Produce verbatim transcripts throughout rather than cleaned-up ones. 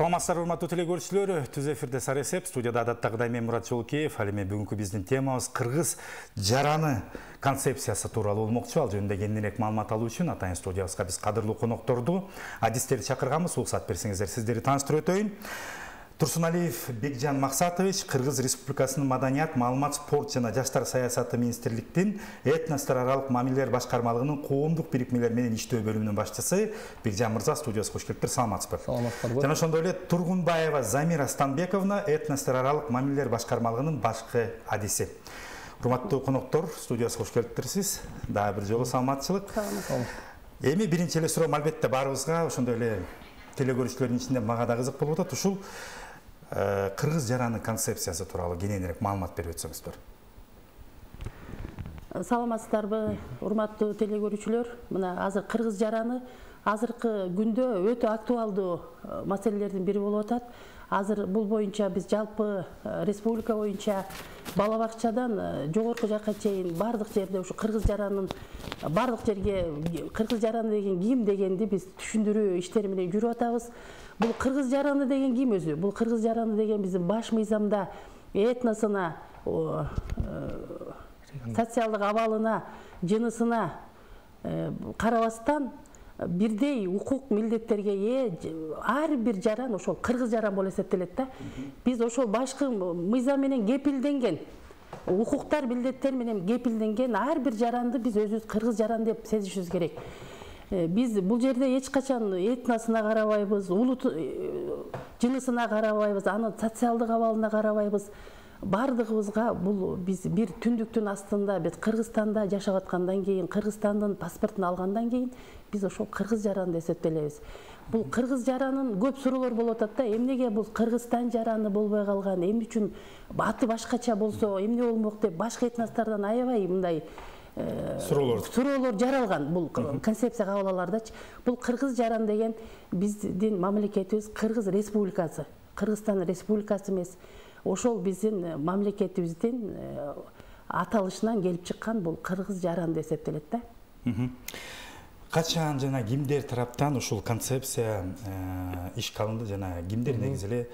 Саламатсыздар, урматтуу телекөрүүчүлөр. Түз эфирде Саресеп, студияда адаттагыдай мен Мурат Жолкеев. Ал эми бүгүнкү биздин темабыз кыргыз жараны концепциясы тууралуу болмокчу. Ал жөнүндө кеңирээк маалымат алуу үчүн атайын студиябызга биз кадырлуу конокторду, адистерди чакырганбыз. Уруксат берсеңиздер, сиздерди тааныштырып өтөйүн. Турсуналиев Бекжан Максатович, Кыргыз Республикасынын Маданият, маалымат, спорт жана жаштар саясаты министрликтин этностор аралык мамилелер башкармалыгынын коомдук бирикмелер менен иштөө бөлүмүнүн башчысы. Бекжан мырза, студиябызга кош келиптир. Саламатсызбы? Саламатсызбы. Жана ошондой эле Тургунбаева Замира Станбековна, этностор аралык мамилелер башкармалыгынын башкы адиси. Урматтуу коноктор, студиябызга кош келиптирсиз. Дагы бир жолу саламатчылык. Саламат. Эми биринчи эле суроо албетте баарыбызга, ошондой эле телекөрүүчүлөрдүн ичинде мага да кызык болуп атат. Ушул кыргыз жараны концепциясы тууралуу кененирээк маалымат берип өтсөңүздөр. Саламатсыздарбы, урматтуу телекөрүүчүлөр? Мына азыр кыргыз жараны азыркы күндө өтө актуалдуу маселелердин бири болуп атат. Азыр бул боюнча биз жалпы республика боюнча бала бакчадан жогорку жакка чейин бардык жерде ушу кыргыз жаранын бардык жерге кыргыз жараны деген ким дегенди биз түшүндүрүү иштери менен жүрүп атабыз. Бул кыргыз жараны деген ким өзү? Бул кыргыз жараны деген биздин баш мыйзамда этносуна, социалдык абалына, жынысына карабастан бирдей укук милдеттерге ээ ар бир жаран ошол кыргыз жаран болуп эсептелет да. Биз ошол башкы мыйзам менен кепилденген укуктар, милдеттер менен кепилденген ар бир жаранды биз өзүбүз кыргыз жаран деп сезишибиз керек. Биз бул жерде эч качан этносуна карабайбыз, улут жынысына карабайбыз, анын социалдык абалына карабайбыз. Бардыгыбызга бул биз бир түндүктүн астында биз Кыргызстанда жашап аткандан кийин, Кыргызстандын паспортун алгандан кийин биз ошол кыргыз жаран деп эсептелебиз. Бул кыргыз жаранын көп суроолор болуп атат да. Эмнеге бул Кыргызстан жараны болбой калган? Эмне үчүн аты башкача болсо эмне болмок деп башка этностордон аябай мындай суроолор суроолор жаралган бул концепция кабыл алуулардачы. Бул кыргыз жаран деген биздин мамлекетибиз Кыргыз Республикасы. Кыргызстан Республикасы эмес. Ошол биздин мамлекетибиздин аталышынан келип чыккан бул кыргыз жаран деп эсептелет да. Качан жана кимдер тараптан ушул концепция ишке алынды жана кимдер негизи эле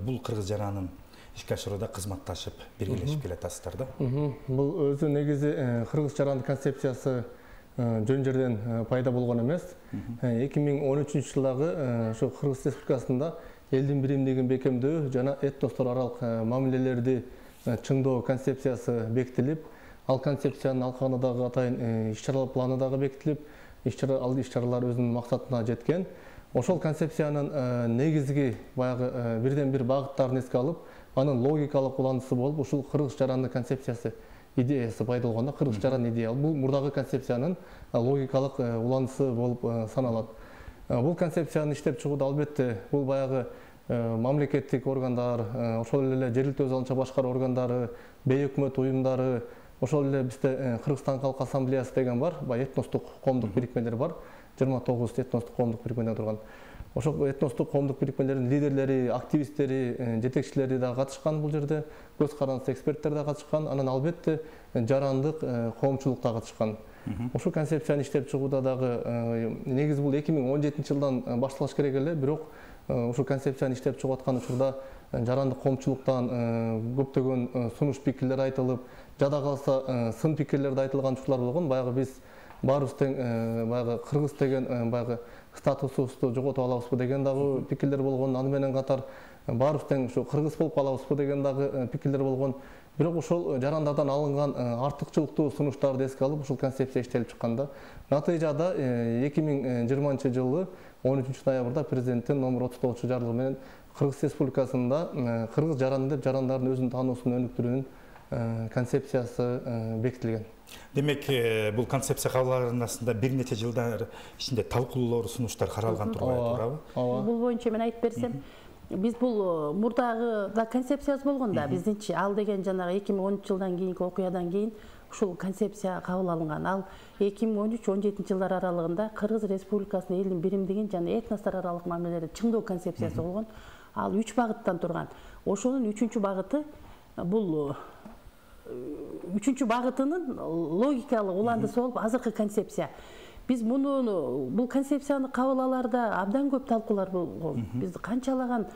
бул кыргыз жаранын ишке ашырууда кызматташып биргелешип келатасыздар да? Бул өзү негизи кыргыз жараны концепциясы жөн жерден пайда болгон эмес. эки миң он үчүнчү жылдагы ошо Кыргыз Республикасында элдин биримдигин бекемдөө жана этностор аралык мамилелерди чыңдоо концепциясы бекитилип, ал концепциянын алкагында дагы атайын иш-чара планы дагы бекитилип, иш-чара ал иш-чаралар өзүнүн максатына жеткен. Ошол концепциянын негизги баягы бирден бир багыттарын эске алып, анын логикалык уландысы болуп, ушул кыргыз жараны концепциясы идеясы пайда болгондо кыргыз жаран идея. Бул мурдагы концепциянын логикалык уландысы болуп саналат. Бул концепцияны иштеп чыгууда албетте бул баягы мамлекеттик органдар, ошол эле жергиликтүү өз алынча башкаруу органдары, бейөкмөт уюмдары, ошол эле бизде Кыргызстан Калк Ассамблеясы деген бар, баягы этностук коомдук бирикмелер бар. жыйырма тогуз этностук коомдук бирикмеден турган. Ошол этностук коомдук бирикмелердин лидерлери, активисттери, жетекчилери да катышкан бул жерде, көз карандысы эксперттер да катышкан, анан албетте жарандык коомчулук да катышкан. Ошол концепцияны иштеп чыгууда дагы негизи бул эки миң он жетинчи жылдан башталыш керек эле, бирок ушул концепцияны иштеп чыгып аткан учурда жарандык коомчулуктан көптөгөн сунуш пикирлер айтылып, жада калса сын пикирлер да айтылган учурлар болгон. Баягы биз баарыбыз тең баягы кыргыз деген баягы статусубузду жоготуп алабызбы деген дагы пикирлер болгон. Аны менен катар баарыбыз тең ушу кыргыз болуп калабызбы деген дагы пикирлер болгон. Бирок ошол жарандардан алынган артыкчылыктуу сунуштарды эске алып ушул концепция иштелип чыкканда, натыйжада эки миң жыйырманчы жылы он үчүнчү ноябрда президенттин номер отуз тогузунчу жарлыгы менен Кыргыз Республикасында кыргыз жараны деп жарандардын өзүн таануусун өнүктүрүүнүн концепциясы бекитилген. Демек, бул концепция кабыл алынасында бир нече жылдар ичинде талкуулоолор, сунуштар каралган турбайбы? Бул боюнча мен айтып берсем, биз бул мурдагы да концепциясы болгон да, биздинчи ал деген жанагы эки миң он үч жылдан кийинки окуядан кийин ушул концепция кабыл алынган. Ал эки миң он үч он жетинчи жылдар аралыгында Кыргыз Республикасынын элдин биримдигин жана этностор аралык мамилелерди чыңдоо концепциясы болгон. Ал үч багыттан турган. Ошонун үчүнчү багыты бул үчүнчү багытынын логикалык уландысы болуп азыркы концепция. Биз муну бул концепцияны кабыл алаарда абдан көп талкуулар болгон. Биз канчалаган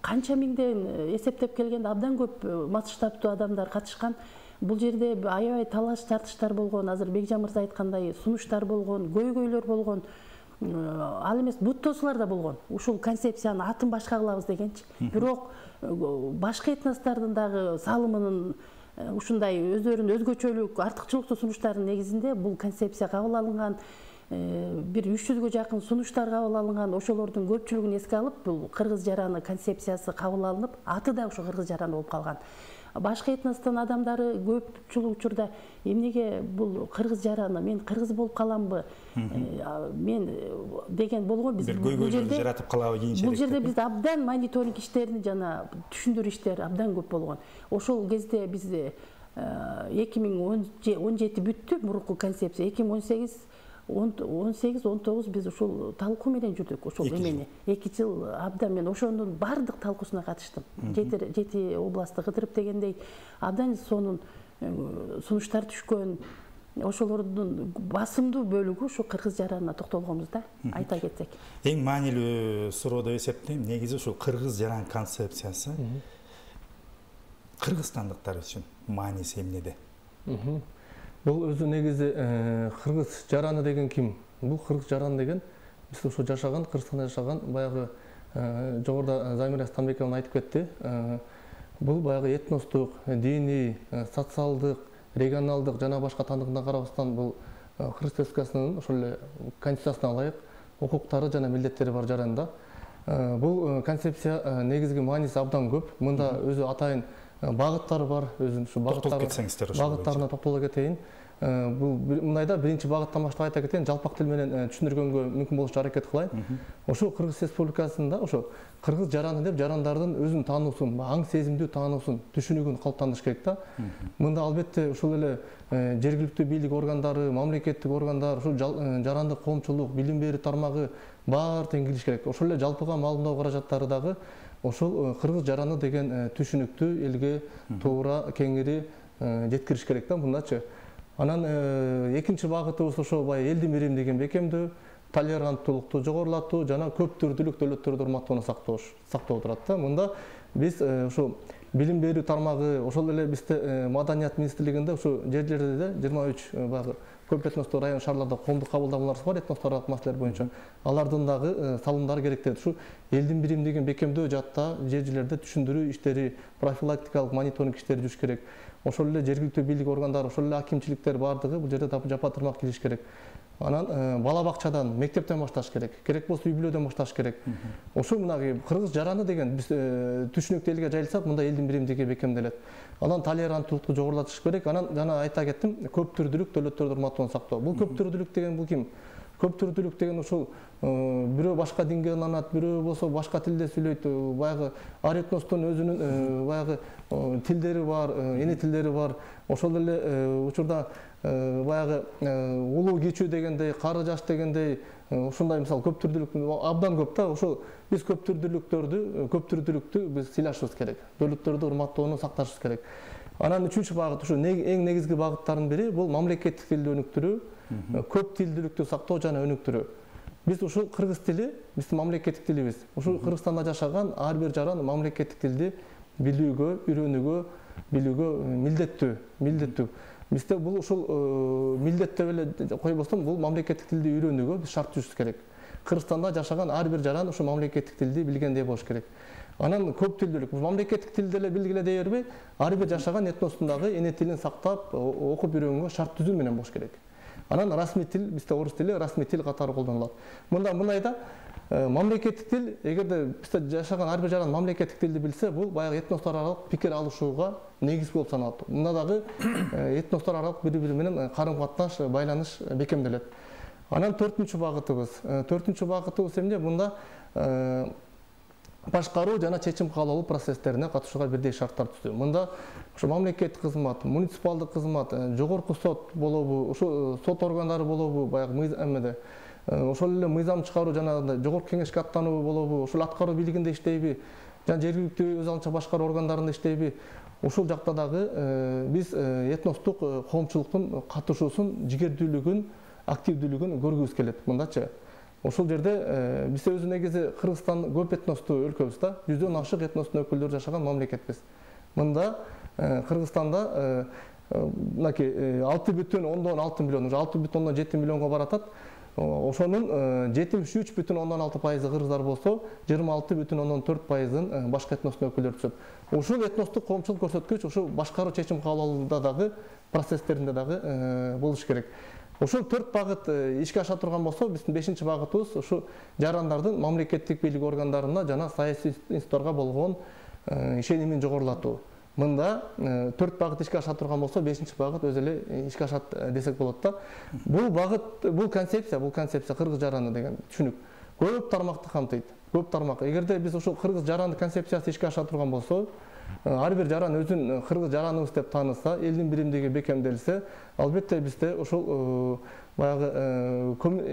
канча миңден эсептеп келгенде абдан көп масштабтуу адамдар катышкан. Бул жерде аябай талаш тартыштар болгон. Азыр Бекжан мырза айткандай сунуштар болгон, көйгөйлөр болгон. Ал эмес буттоосулар да болгон. Ушул концепцияны атын башка кылабыз дегенчи. Бирок башка этностордун дагы салымынын ушундай өздөрүнүн өзгөчөлүк, артыкчылыктуу сунуштарынын негизинде бул концепция кабыл алынган. Бир үч жүзгө жакын сунуштар кабыл алынган. Ошолордун көпчүлүгүн эске алып, бул кыргыз жараны концепциясы кабыл алынып, аты да ошо кыргыз жараны болуп калган. Башка этностун адамдары көпчүлүк учурда эмнеге бул кыргыз жараны, мен кыргыз болуп каламбы, мен деген болгон. Биз бул жерде жаратып калабы кийинчерээк. Бул жерде биз абдан мониторинг иштерин жана түшүндүрүү иштери абдан көп болгон. Ошол кезде биз эки миң он жети бүттү мурунку концепция. эки миң он сегиз он сегиз он тогуз биз ушул талкуу менен жүрдүк. Ошол эмени эки жыл абдан мен ошонун бардык талкуусуна катыштым. Жети областты кыдырып дегендей абдан сонун сунуштар түшкөн. Ошолордун басымдуу бөлүгү ушу кыргыз жаранына токтолгонбуз да, айта кетсек. Эң маанилүү суроо деп эсептейм. Негизи ушул кыргыз жаран концепциясы кыргызстандыктар үчүн мааниси эмнеде? Бул өзү негизи кыргыз жараны деген ким? Бул кыргыз жараны деген биз ошо жашаган, Кыргызстанда жашаган баягы жогоруда Замира Станбековна айтып кетти. Бул баягы этностук, диний, социалдык, регионалдык жана башка тандыгына карабастан бул Кыргыз Республикасынын ошол эле конституциясына ылайык укуктары жана милдеттери бар жаранда. Бул концепция негизги мааниси абдан көп. Мында өзү атайын багыттары бар, өзүнүн ушу багыттарына токтоло кетейин. Бул мындайда биринчи багыттан баштап айта кетейин, жалпак тил менен түшүндүргөнгө мүмкүн болушунча аракет кылайын. Ошо Кыргыз Республикасында ошо кыргыз жараны деп жарандардын өзүн таануусун, аң сезимдүү таануусун, түшүнүгүн калыптандырыш керек да. Мында албетте ушул эле жергиликтүү бийлик органдары, мамлекеттик органдар, ушул жарандык коомчулук, билим берүү тармагы баары тең кириш керек. Ошол эле жалпыга маалымдоо каражаттары дагы ошол кыргыз жараны деген түшүнүктү элге туура кеңири жеткириш керек да, мындачы. Анан экинчи багытыбыз ошо бай элдин бирим деген бекемдөө, толеранттуулукту жогорулатуу жана көп түрдүүлүк дөөлөттөрдү урматтоону сактоо сактоо турат да. Мында биз ошо билим берүү тармагы, ошол эле бизде маданият министрлигинде ошо жер-жерлерде жыйырма үч баягы көп этностуу район шаарларда коомдук кабылдамалар бар этностор аралык маселелер боюнча. Алардын дагы салымдары керектеги ушу элдин бирим деген бекемдөө жаатта жер-жерлерде түшүндүрүү иштери, профилактикалык мониторинг иштери жүрүш керек. Ошол эле жергиликтүү бийлик органдары, ошол эле акимчиликтер бардыгы бул жерде жапа тырмак килиш керек. Анан бала бакчадан, мектептен башташ керек. Керек болсо үй бүлөдөн башташ керек. Ошо мынагы кыргыз жараны деген биз түшүнүктүү элге жайылсак, мында элдин бирим деген бекемделет. Анан толеранттуулукту жогорулатыш керек. Анан жана айта кеттим, көп түрдүүлүк дөөлөттөрдү урматтоону сактоо. Бул көп түрдүүлүк деген бул ким? Көп түрдүүлүк деген ушул бирөө башка динге ынанат, бирөө болсо башка тилде сүйлөйт. Баягы ар этностун өзүнүн баягы тилдери бар, эне тилдери бар. Ошол эле учурда баягы улуу кичүү дегендей, кары жаш дегендей, ушундай мисалы көп түрдүүлүк абдан көп да. Ошол биз көп түрдүүлүктөрдү, көп түрдүүлүктү биз сыйлашыбыз керек. Дөөлөттөрдү урматтоону сакташыбыз керек. Анан үчүнчү багыт, ушу эң негизги багыттардын бири бул мамлекеттик тилди өнүктүрүү, көп тилдүүлүктү сактоо жана өнүктүрүү. Биз ушул кыргыз тили биздин мамлекеттик тилибиз. Ушул Кыргызстанда жашаган ар бир жаран мамлекеттик тилди билүүгө, үйрөнүүгө, билүүгө милдеттүү, милдеттүү. Бизде бул ушул милдет деп эле койбостон, бул мамлекеттик тилди үйрөнүүгө биз шарт түзүш керек. Кыргызстанда жашаган ар бир жаран ушул мамлекеттик тилди билгендей болуш керек. Анан көп тилдүүлүк. Мамлекеттик тилди эле билгиле дей бербей, ар бир жашаган этностун дагы эне тилин сактап, окуп үйрөнгөнгө шарт түзүү менен болуш керек. Анан расмий тил, бизде орус тили расмий тил катары колдонулат. Мында мындайда мамлекеттик тил, эгерде бизде жашаган ар бир жаран мамлекеттик тилди билсе, бул баягы этностор аралык пикир алышууга негиз болуп саналат. Мында дагы этностор аралык бири-бири менен карым-катнаш, байланыш бекемделет. Анан төртүнчү багытыбыз, төртүнчү багытыбыз эмне? Мында башкаруу жана чечим кабыл алуу процесстерине катышууга бирдей шарттар түздү. Мында ошо мамлекеттик кызмат, муниципалдык кызмат, жогорку сот болобу, ошо сот органдары болобу, баягы эмеде, ошол эле мыйзам чыгаруу жана жогорку кеңешке аттануу болобу, ошол аткаруу бийлигинде иштейби, жана жергиликтүү өз алынча башкаруу органдарында иштейби, ушул жакта дагы биз этностук коомчулуктун катышуусун, жигердүүлүгүн активдүүлүгүн көргүбүз келет мындачы. Ошол жерде биз өзү негизи Кыргызстан көп этностуу өлкөбүз да, жүздөн ашык этностун өкүлдөрү жашаган мамлекетпиз. Мында Кыргызстанда мынакей алты бүтүн ондон алты миллион, уже алты бүтүн ондон жети миллионго баратат. Ошонун жетимиш үч бүтүн ондон алты пайызы кыргыздар болсо, жыйырма алты бүтүн ондон төрт пайызын башка этностун өкүлдөрү түзөт. Ушул этностук коомчулук көрсөткүч ушу башкаруу чечим кабыл алууда дагы, процесстеринде дагы болуш керек. Ошол төрт багыт ишке аша турган болсо, биздин бешинчи багытыбыз ушу жарандардын мамлекеттик бийлик органдарына жана саясий институттарга болгон ишенимин жогорулатуу. Мында төрт багыт ишке аша турган болсо, бешинчи багыт өзү эле ишке ашат десек болот да. Бул багыт, бул концепция, бул концепция кыргыз жараны деген түшүнүк көп тармакты камтыйт. Көп тармак. Эгерде биз ушул кыргыз жараны концепциясы ишке аша турган болсо, ар бир жаран өзүн кыргыз жараныбыз деп тааныса, элдин биримдиги бекемделсе, албетте бизде ушул баягы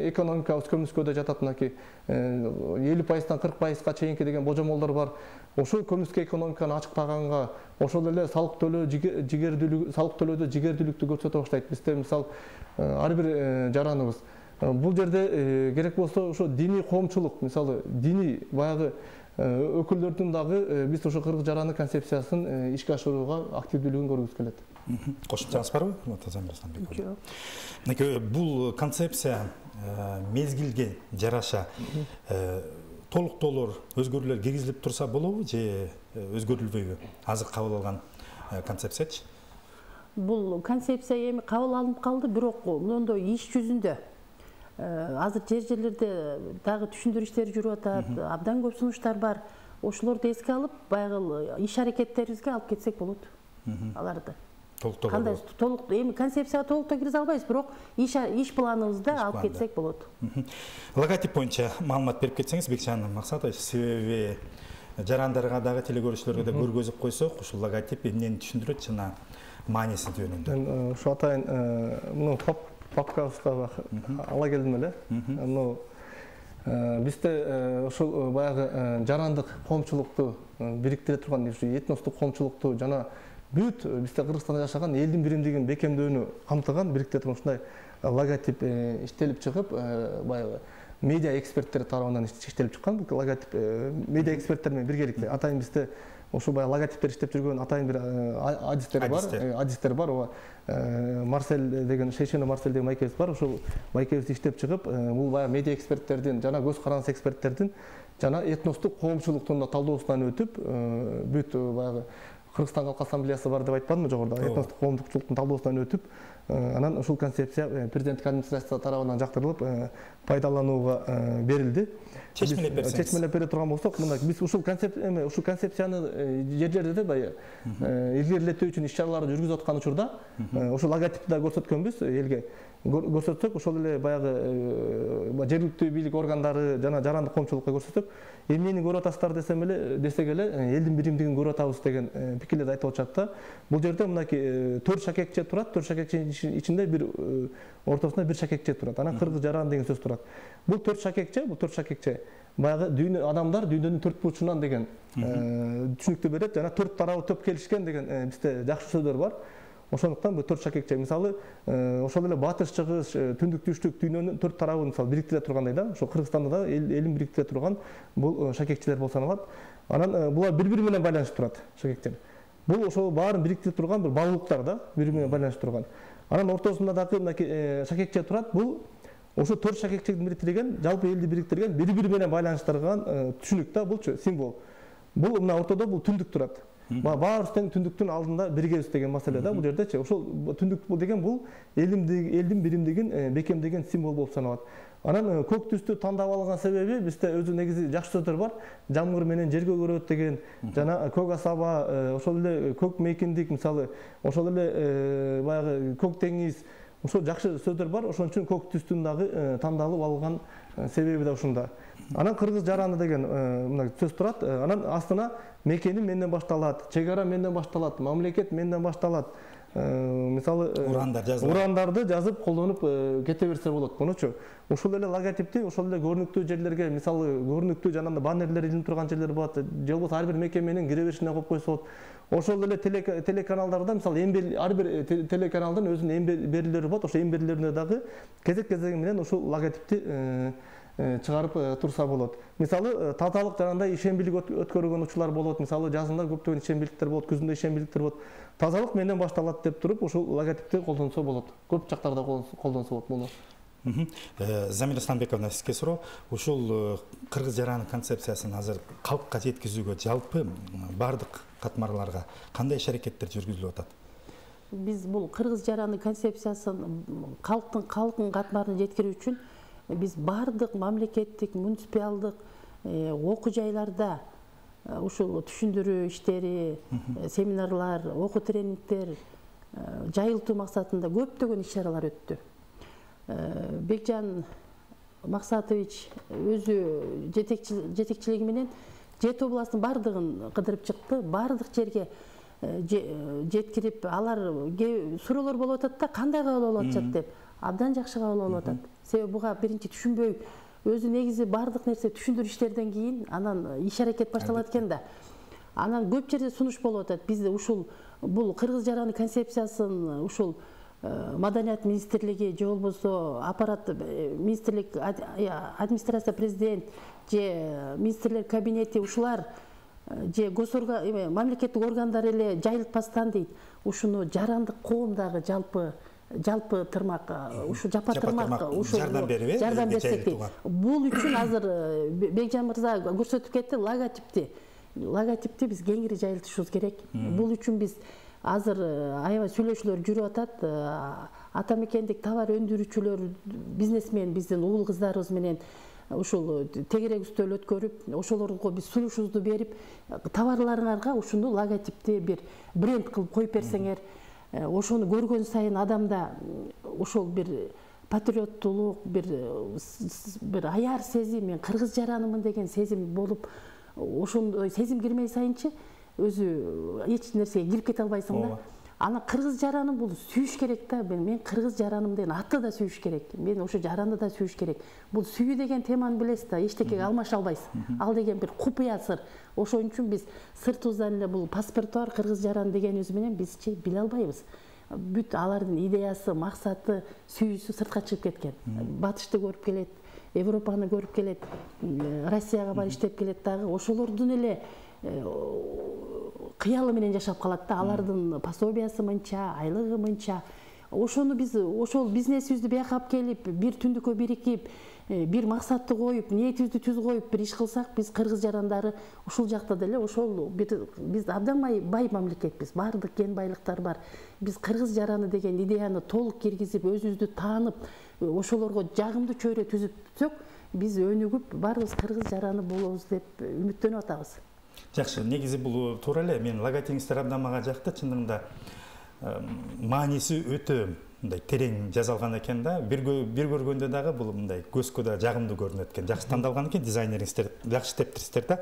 экономикабыз көмүскөдө жатат, мынакей элүү пайыздан кырк пайызга чейинки деген божомолдор бар. Ошол көмүскө экономиканы ачыктаганга, ошол эле салык төлөө жигердүүлүк, салык төлөөдө жигердүүлүктү көрсөтө баштайт. Бизде мисал ар бир жараныбыз бул жерде керек болсо ошо диний коомчулук, мисалы диний баягы өкүлдөрдүн дагы биз ошо кыргыз жараны концепциясын ишке ашырууга активдүүлүгүн көргүбүз келет. Кошумчаңыз барбы, Атазан Арсланбек? Жок. Мынакей бул концепция мезгилге жараша толуктоолор, өзгөрүүлөр киргизилип турса болобу же өзгөрүлбөйбү? Азыр кабыл алган концепциячы? Бул концепция эми кабыл алынып калды, бирок мондой иш жүзүндө азыр жер жерлерде дагы түшүндүрүү иштери жүрүп атат, абдан көп сунуштар бар. Ошолорду эске алып, баягы иш аракеттерибизге алып кетсек болот. Аларды. Кандай толук эми концепцияга толуктоо киргизе албайбыз, бирок иш иш планыбызда алып кетсек болот. Логотип боюнча маалымат берип кетсеңиз, Бекжан Максатович, себеби жарандарга дагы телекөрүүчүлөргө да көргөзүп койсок, ушул логотип эмнени түшүндүрөт жана мааниси жөнүндө. Ушу атайын муну папкабызга ала келдим эле. Муну бизде ушул баягы жарандык коомчулукту бириктире турган, этностук коомчулукту жана бүт бизде Кыргызстанда жашаган элдин биримдигин бекемдөөнү камтыган бириктире турган ушундай логотип иштелип чыгып, баягы медиа эксперттер тарабынан иштелип чыккан. Бул логотип медиа эксперттер менен биргеликте атайын бизде ошо баягы логотиптер иштеп жүргөн атайын бир адистер бар, адистер бар. Ооба Марсель деген, Шейшено Марсель деген майкебиз бар. Ошол майкебиз иштеп чыгып, бул баягы медиа эксперттердин жана көз карандысы эксперттердин жана этностук коомчулуктун да талдоосунан өтүп, бүт баягы Кыргызстан Калк Ассамблеясы бар деп айтпадымбы жогоруда, этностук коомчулуктун талдоосунан өтүп, анан ушул концепция президенттик администрация тарабынан жактырылып, пайдаланууга берилди. Чечмелеп берсеңиз. Чечмелеп бере турган болсок, мына биз ушул концепция эми ушул концепцияны жер жерде баягы илгерилетүү үчүн иш чараларды жүргүзүп аткан учурда, ошол логотипти да көрсөткөнбүз элге. Көрсөтсөк, ошол эле баягы жергиликтүү бийлик органдары жана жарандык коомчулукка көрсөтсөк, эмнени көрүп атасыздар десем эле, десек эле, элдин биримдигин көрүп атабыз деген пикирлерди айтып атышат да. Бул жерде мынакей төрт шакекче турат, төрт шакекченин ичинде бир ортосунда бир шакекче турат. Анан кыргыз жаран деген сөз турат. Бул төрт шакекче, бул төрт шакекче баягы дүйнө адамдар дүйнөнүн төрт бурчунан деген түшүнүктү берет, жана төрт тарабы төп келишкен деген бизде жакшы сөздөр бар. Ошондуктан бул төрт шакекче, мисалы, ошол эле батыш, чыгыш, түндүк, түштүк дүйнөнүн төрт тарабын мисалы бириктире тургандай да, ошо Кыргызстанда да элин бириктире турган бул шакекчелер болуп саналат. Анан булар бири-бири менен байланышып турат, шакекчелер. Бул ошол баарын бириктире турган бир багуулуктар да, бири-бири менен байланышып турган. Анан ортосунда дагы мынакей шакекче турат. Бул ошо төрт шакекчени бириктирген, жалпы элди бириктирген, бири-бири менен байланыштырган түшүнүк да, булчу символ. Бул мына ортодо бул түндүк турат. Баарыбыз тең түндүктүн алдында биригебиз деген маселе да, бул жердечи. Ошол түндүк бул деген бул элдин биримдигин бекемдеген символ болуп саналат. Анан көк түстү тандап алган себеби бизде өзү негизи жакшы сөздөр бар. Жамгыр менен жерге көрөт деген, жана көк асаба, ошол эле көк мейкиндик, мисалы, ошол эле баягы көк деңиз, ошол жакшы сөздөр бар. Ошон үчүн көк түстүн дагы тандалып алган себеби да ушунда. Анан кыргыз жараны деген мына сөз турат. Анан астына мекеним менден башталат, чек ара менден башталат, мамлекет менден башталат, мисалы урандар жазып урандарды жазып колдонуп кете берсе болот. Мунучу ошол эле логотипти ошол эле көрүнүктүү жерлерге, мисалы көрүнүктүү жанагындай баннерлер илинип турган жерлер болот, же болбосо ар бир мекеменин кире беришине коюп койсо болот. Ошол эле телеканалдарда мисалы эң ар бир телеканалдын өзүнүн эң берүүлөрү болот. Ошо эң берүүлөрүнө дагы кезек кезеги менен ушул логотипти чыгарып турса болот. Мисалы тазалык жанагындай ишембилик өткөргөн учурлар болот. Мисалы жазында көптөгөн ишембиликтер болот, күзүндө ишембиликтер болот. Тазалык менен башталат деп туруп ушул логотипти колдонсо болот. Көп жактарда колдонсо болот муну. Замира Исламбековна, сизге суроо. Ушул кыргыз жараны концепциясын азыр калкка жеткизүүгө жалпы бардык катмарларга кандай иш-аракеттер жүргүзүлүп атат? Биз бул кыргыз жараны концепциясын калктын калкын катмарына жеткирүү үчүн биз бардык мамлекеттик, муниципалдык окуу жайларда ушул түшүндүрүү иштери, семинарлар, окуу тренингдер жайылтуу максатында көптөгөн иш-чаралар өттү. Бекжан Максатович өзү жетекчилиги менен Жети областын бардыгын кыдырып чыкты, бардык жерге жеткирип, алар суроолор болуп атат да, кандай кабыл алып атышат деп, абдан жакшы кабыл алып атат. Себеби буга биринчи түшүнбөй, өзү негизи бардык нерсе түшүндүрүү иштерден кийин анан иш-аракет башталат экен да. Анан көп жерде сунуш болуп атат. Бизде ушул бул кыргыз жараны концепциясын ушул Маданият министрлиги же болбосо аппарат министрлик администрация президент же министрлер кабинети ушулар же госорган мамлекеттик органдар эле жайылтпастан дейт. Ушуну жарандык коом дагы жалпы жалпы тырмак ушу жапа тырмак ушу жардам берип жардам берсек дейт. Бул үчүн азыр Бекжан мырза көрсөтүп кетти логотипти. Логотипти биз кеңири жайылтышыбыз керек. Бул үчүн биз азыр аябай сүйлөшүүлөр жүрүп атат. Ата мекендик товар өндүрүүчүлөр, бизнесмен биздин уул кыздарыбыз менен ушул тегерек үстөл өткөрүп, ошолорго биз сунушубузду берип, товарларыңарга ушуну логотипти бир бренд кылып коюп берсеңер, ошону көргөн сайын адамда ошол бир патриоттулук, бир бир аяр сезим, мен кыргыз жаранымын деген сезим болуп, ошондой сезим кирмей сайынчы өзү эч нерсеге кирип кете албайсың да. Ана кыргыз жараны бул сүйүш керек да. Мен кыргыз жараным деген атты да сүйүш керек. Мен ошо жаранды да сүйүш керек. Бул сүйүү деген теманы билесиз да, эчтекеге алмаша албайсыз. Ал деген бир купуя сыр. Ошон үчүн биз сыртыбыздан эле бул паспорт бар кыргыз жараны дегенибиз менен бизчи биле албайбыз. Бүт алардын идеясы, максаты, сүйүүсү сыртка чыгып кеткен. Батышты көрүп келет, Европаны көрүп келет, Россияга барып иштеп келет дагы. Ошолордун эле кыялы менен жашап калат да, алардын пособиясы мынча, айлыгы мынча. Ошону биз ошол бизнесибизди бияка алып келип, бир түндүккө бирикип, бир максатты коюп, ниетибизди түз коюп бир иш кылсак, биз кыргыз жарандары ушул жакта деле ошол биз абдан бай мамлекетпиз. Бардык кен байлыктар бар. Биз кыргыз жараны деген идеяны толук киргизип, өзүбүздү таанып, ошолорго жагымдуу чөйрө түзүпсөк, биз өнүгүп, баарыбыз кыргыз жараны болобуз деп үмүттөнүп атабыз. Жакшы, негизи бул туура эле. Мен логотипиңиздер абдан мага жакты. Чындыгында мааниси өтө мындай терең жазалган экен да. Бир бир көргөндө дагы бул мындай көзгө да жагымдуу көрүнөт экен. Жакшы тандалган экен, дизайнериңиздер жакшы иштептирсиздер да.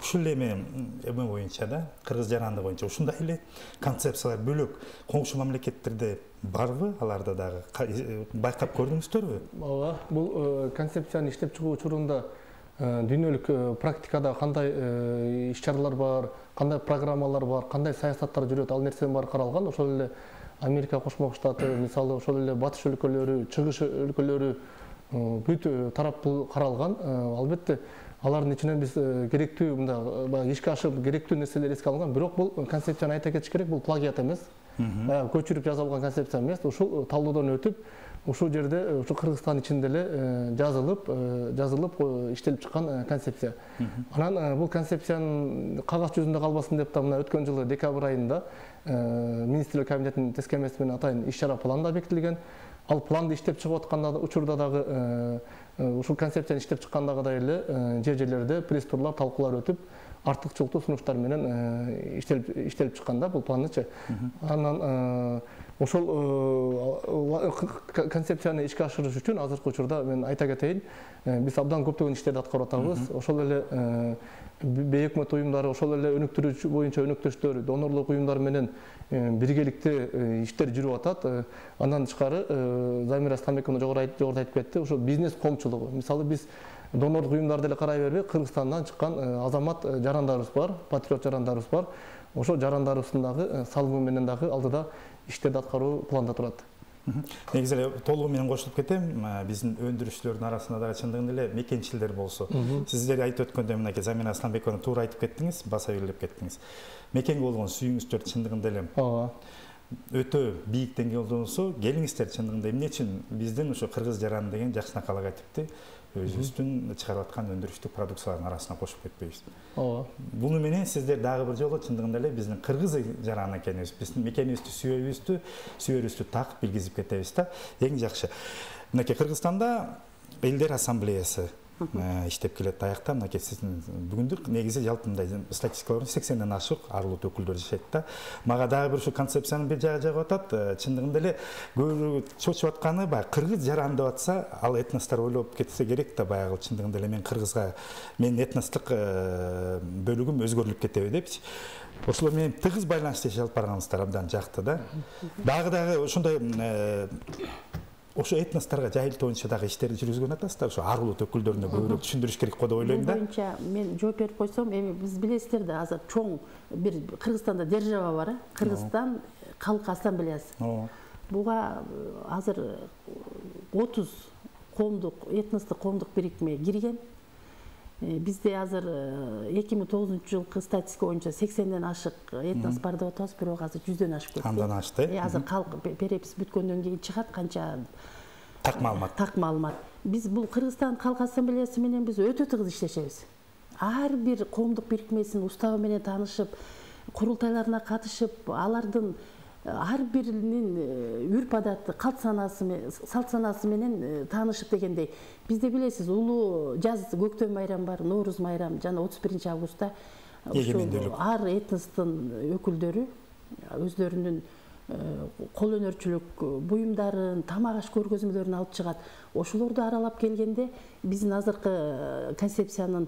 Ушул эме эме боюнча да, кыргыз жаранды боюнча ушундай эле концепциялар бөлөк коңшу мамлекеттерде барбы? Аларда дагы байкап көрдүңүздөрбү? Ооба, бул концепцияны иштеп чыгуу учурунда дүйнөлүк практикада кандай иш-чаралар бар, кандай программалар бар, кандай саясаттар жүрөт, ал нерсенин баары каралган. Ошол эле Америка Кошмо Штаты, мисалы ошол эле батыш өлкөлөрү, чыгыш өлкөлөрү бүт тараптуу каралган. Албетте, алардын ичинен биз керектүү мындай ишке ашып керектүү нерселер эске алынган. Бирок бул концепцияны айта кетиш керек, бул плагиат эмес. Көчүрүп жазылган концепция эмес. Ушул талоодон өтүп, ушул жерде ушу Кыргызстан ичинде эле жазылып, жазылып иштелип чыккан концепция. Анан бул концепциянын кагаз жүзүндө калбасын деп да мына өткөн жылы декабрь айында министрлер кабинетинин тескемеси менен атайын иш-чара план да бекитилген. Ал планды иштеп чыгып атканда учурда дагы ушул концепцияны иштеп чыккандагыдай эле жер-жерлерде пресс турлар, талкуулар өтүп, артыкчылыктуу сунуштар менен иштелип иштелип чыкканда бул планычы. Анан ошол концепцияны ишке ашырыш үчүн азыркы учурда мен айта кетейин, биз абдан көптөгөн иштерди аткарып атабыз. Ошол эле бей өкмөт уюмдары, ошол эле өнүктүрүүчү боюнча өнөктөштөр, донорлук уюмдар менен биргеликте иштер жүрүп атат. Андан тышкары Замира Стамбековна жогоруда айтып кетти, ошо бизнес коомчулугу. Мисалы биз донорлук уюмдарды эле карай бербей, Кыргызстандан чыккан азамат жарандарыбыз бар, патриот жарандарыбыз бар. Ошол жарандарыбыздын дагы салымы менен дагы алдыда иштерди аткаруу планда турат. Негизи эле толугу менен кошулуп кетем. Биздин өндүрүүчүлөрдүн арасында дагы чындыгында эле мекенчилер болсо. Сиздер айтып өткөндөй мынакей Замира Асланбековна туура айтып кеттиңиз, баса белгилеп кеттиңиз. Мекенге болгон сүйүүңүздөр чындыгында эле ооба өтө бийик деңгээлде болсо, келиңиздер чындыгында эмне үчүн биздин ошо кыргыз жараны деген жакшынакай логотипти өзүбүздүн чыгарып аткан өндүрүштүк продукциялардын арасына кошуп кетпейбиз. Ооба. Буну менен сиздер дагы бир жолу чындыгында эле биздин кыргыз жараны экенибиз, биздин мекенибизди сүйүүбүздү, сүйөрүбүздү так билгизип кетебиз да. Эң жакшы. Мынакей Кыргызстанда элдер ассамблеясы иштеп келет аякта. Мынакей сиздин бүгүндүк негизи жалпы мындай статистикалар сексенден ашык арулут өкүлдөр жашайт да. Мага дагы бир ушу концепциянын бир жагы жагып атат. Чындыгында эле көбү чочуп атканы баягы кыргыз жаран деп атса, ал этностор ойлоп кетсе керек да, баягы чындыгында эле мен кыргызга менин этностук бөлүгүм өзгөрүлүп кетеби депчи. Ошолор менен тыгыз байланышта жашап барганыңыздар абдан жакты да. Дагы дагы ошондой ошо этносторго жайылтуу боюнча дагы иштерди жүргүзгөн атасыздар. Ошо арулут өкүлдөрүнө көбүрөөк түшүндүрүш керек го деп ойлойм да. Бул боюнча мен жооп берип койсом, эми биз билесиздер да, азыр чоң бир Кыргызстанда держава бар, Кыргызстан Калк Ассамблеясы. Буга азыр отуз коомдук, этностук коомдук бирикме кирген. Бизде азыр эки миң тогузунчу жылкы статистика боюнча сексенден ашык этнос бар деп атабыз, бирок азыр жүздөн ашып кетти. Андан ашты. Азыр калк перепис бүткөндөн кийин чыгат канча так маалымат. Так маалымат. Биз бул Кыргызстан Калк Ассамблеясы менен биз өтө тыгыз иштешебиз. Ар бир коомдук бирикмесинин уставы менен таанышып, курултайларына катышып, алардын ар биринин үрп адаты, калп санаасы, салт санаасы менен таанышып дегендей. Бизде билесиз, улуу жаз көктөм майрамы бар, Нооруз майрамы жана отуз биринчи августта ар этностун өкүлдөрү өздөрүнүн кол өнөрчүлүк буюмдарын, тамак аш көргөзмөлөрүн алып чыгат. Ошолорду аралап келгенде биздин азыркы концепциянын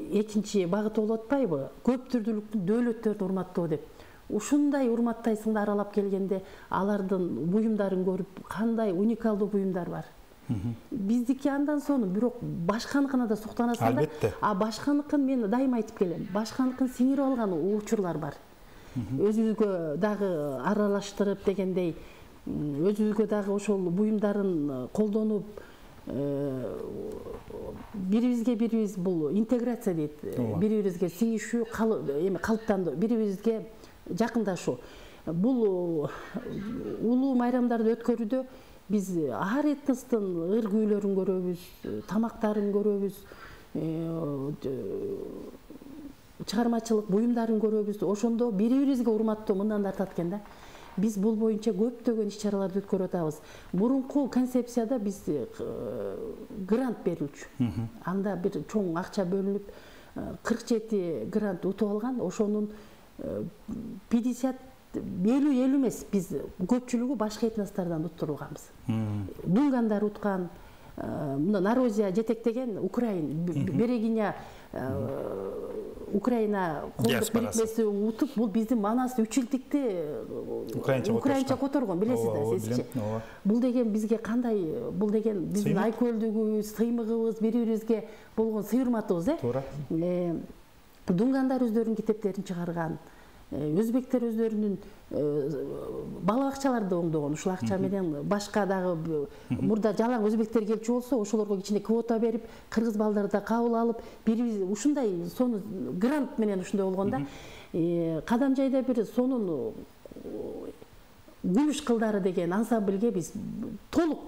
экинчи багыты болуп атпайбы? Көп түрдүүлүктү дөөлөттөрдү урматтоо деп. Ушундай урматтайсыңды аралап келгенде алардын буюмдарын көрүп, кандай уникалдуу буюмдар бар. Биздики андан соң, бирок башканыкына да суктанасың да. А башканыкын мен дайыма айтып келем. Башканыкын сиңирип алган учурлар бар. Өзүбүзгө дагы аралаштырып дегендей, өзүбүзгө дагы ошол буюмдарын колдонуп, бирибизге бирибиз бул интеграция дейт. Бири-бирибизге сиңишүү, эми калыптандыруу, бири-бирибизге жакындашуу. Бул улуу майрамдарды өткөрүүдө биз ар этностун ыр-күүлөрүн көрөбүз, тамактарын көрөбүз, чыгармачылык буюмдарын көрөбүз. Ошондо бири-бирибизге урматтоо мындан тартат экен да. Биз бул боюнча көптөгөн иш-чараларды өткөрүп атабыз. Мурунку концепцияда биз грант берилчү. Анда бир чоң акча бөлүнүп, кырк жети грант утуп алган. Ошонун пятьдесят элүү элүү эмес, биз көпчүлүгү башка этностордон уттурулганбыз. Дунгандар уткан, мына Нарозия жетектеген Украин, Берегиня Украина коомдук бирикмеси утуп, бул биздин манас үч жылдыкты украинча которгон, билесиз да, сизчи. Бул деген бизге кандай, бул деген биздин айкөлдүгүбүз, сыймыгыбыз, бири-бирибизге болгон сый урматыбыз, э? Дунгандар өздөрүнүн китептерин чыгарган, өзбектер өздөрүнүн бала бакчаларды оңдогон, ушул акча менен башка дагы мурда жалаң өзбектер келчү болсо, ошолорго кичине квота берип, кыргыз балдарды да кабыл алып, бири ушундай сону грант менен ушундай болгон да. Кадамжайда бир сонун Күмүш кылдары деген ансамбльге биз толук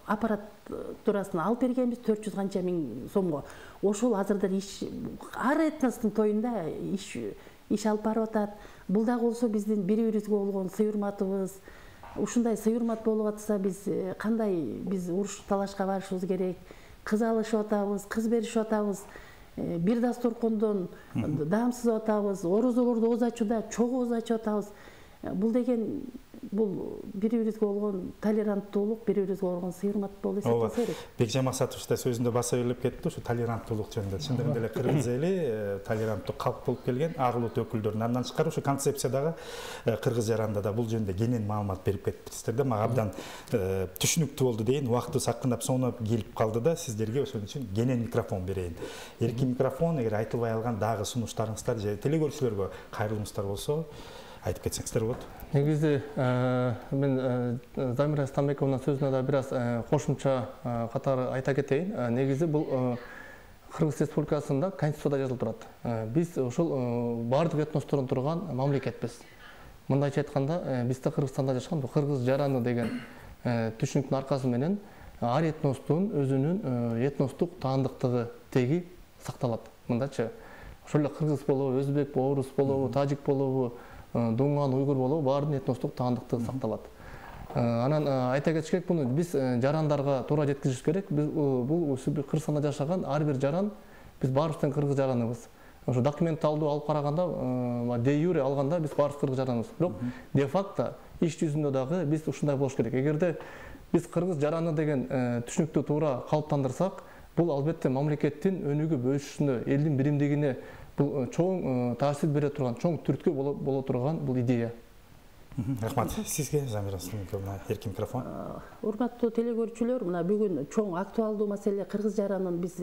аппаратурасын алып бергенбиз, төрт жүз канча миң сомго. Ошол азырда иш ар этностун тоюнда иш иш алып барып атат. Бул дагы болсо биздин бири-бирибизге болгон сый урматыбыз. Ушундай сый урмат болуп атса, биз кандай биз уруш талашка барышыбыз керек, кыз алышып атабыз, кыз беришип атабыз. бир дасторкондон даамсызып атабыз, орозолорду ооз ачууда чогуу ооз ачып атабыз. Бул деген бул бири-бирибизге болгон толеранттуулук, бири-бирибизге болгон сый-урмат болуп эсептелсе керек. Бекжан Максатович да сөзүндө баса белгилеп кетти, ушу толеранттуулук жөнүндө. Чындыгында эле кыргыз эли толеранттуу калк болуп келген, ар улут өкүлдөрүнүн андан тышкары ушу концепциядагы кыргыз жаранында да бул жөнүндө кенен маалымат берип кетиптирсиздер да. Мага абдан түшүнүктүү болду дейин. Убактыбыз акырындап соңуна келип калды да, сиздерге ошон үчүн кенен микрофон берейин. Эркин микрофон, эгер айтылбай алган дагы сунуштарыңыздар же телекөрүүчүлөргө кайрылымыңыздар болсо айтып кетсеңиздер болот. Негизи мен Замира Стамбековнун сөзүнө да бир аз кошумча катары айта кетейин. Негизи бул Кыргыз Республикасында Конституцияда жазылып турат. Биз ошол бардык этностордон турган мамлекетпиз. Мындайча айтканда, бизде Кыргызстанда жашаган кыргыз жараны деген түшүнүктүн аркасы менен ар этностун өзүнүн этностук таандыктыгы теги сакталат. Мындайча ошол эле кыргыз болобу, өзбек, орус болобу, тажик болобу, дуңган, уйгур болобу, баарынын этностук таандыктыгы сакталат. Анан айта кетиш керек, буну биз жарандарга туура жеткизиш керек. Биз бул Кыргызстанда жашаган ар бир жаран, биз баарыбыз кыргыз жараныбыз. Ошо документалдуу алып караганда, де юре алганда биз баарыбыз кыргыз жараныбыз. Бирок де факто иш жүзүндө дагы биз ушундай болуш керек. Эгерде биз кыргыз жараны деген түшүнүктү туура калыптандырсак, бул албетте мамлекеттин өнүгүп өсүшүнө, элдин биримдигине бул чоң таасир бере турган, чоң түрткү боло турган бул идея. Рахмат. Сизге Замира Стамбековна эркин микрофон. Урматтуу телекөрүүчүлөр, мына бүгүн чоң актуалдуу маселе кыргыз жаранын биз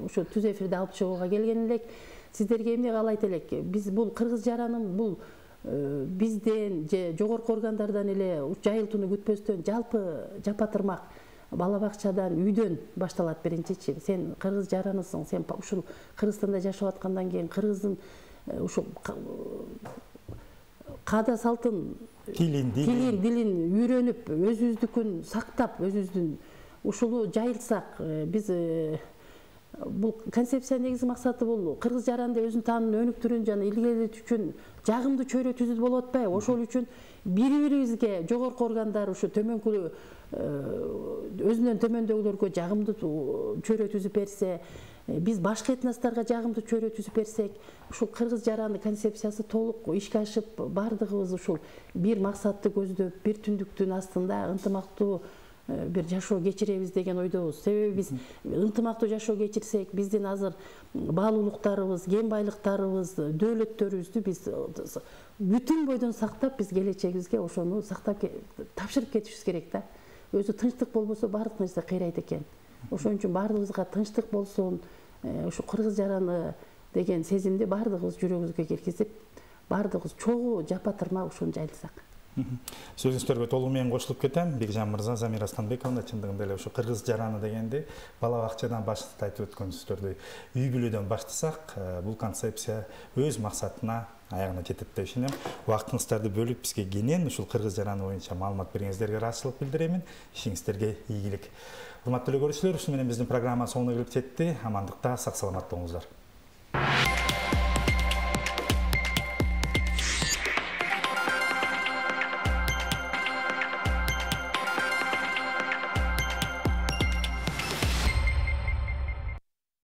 ушу түз эфирде алып чыгууга келген элек. Сиздерге эмне каалайт элек? Биз бул кыргыз жаранын бул бизден же жогорку органдардан эле жайылтууну күтпөстөн жалпы жапатырмак бала бакчадан, үйдөн башталат биринчичи. Сен кыргыз жаранысың, сен ушул Кыргызстанда жашап аткандан кийин кыргыздын ушул каада салтын, тилин, тилин, дилин үйрөнүп, өзүбүздүкүн сактап, өзүбүздүн ушуну жайылтсак, биз бул концепциянын негизги максаты бул кыргыз жаранды өзүнүн таанын өнүктүрүүн жана илгерилетүү үчүн жагымдуу чөйрө түзүп болуп атпайбы? Ошол үчүн бири-бирибизге жогорку органдар ушу төмөнкү өзүнөн төмөндөгүлөргө жагымдуу чөйрө түзүп берсе, биз башка этносторго жагымдуу чөйрө түзүп берсек, ушул кыргыз жараны концепциясы толук ишке ашып, бардыгыбыз ушул бир максатты көздөп, бир түндүктүн астында ынтымактуу бир жашоо кечиребиз деген ойдобуз. Себеби биз ынтымактуу жашоо кечирсек, биздин азыр баалуулуктарыбыз, кен байлыктарыбыз, дөөлөттөрүбүздү биз бүтүн бойдон сактап, биз келечегибизге ошону сактап тапшырып кетишибиз керек да. Өзү тынчтык болбосо баардык нерсе кыйрайт экен. Ошон үчүн баардыгыбызга тынчтык болсун, ушу кыргыз жараны деген сезимди баардыгыбыз жүрөгүбүзгө киргизип, баардыгыбыз чогуу жапатырма ушуну жайылсак. Сөзүңүздөргө толугу менен кошулуп кетем. Бекжан мырза, Замира Стамбековна, чындыгында эле ушу кыргыз жараны дегенди бала бакчадан баштап айтып өткөнүңүздөрдөй үй бүлөдөн баштасак, бул концепция өз максатына аягына жетет деп ишенем. Убактыңыздарды бөлүп бизге кенен ушул кыргыз жараны боюнча маалымат бергениңиздерге ыраазычылык билдиремин. Ишиңиздерге ийгилик. Урматтуу көрүүчүлөр, ушу менен биздин программа соңуна келип жетти. Амандыкта, сак саламат болуңуздар.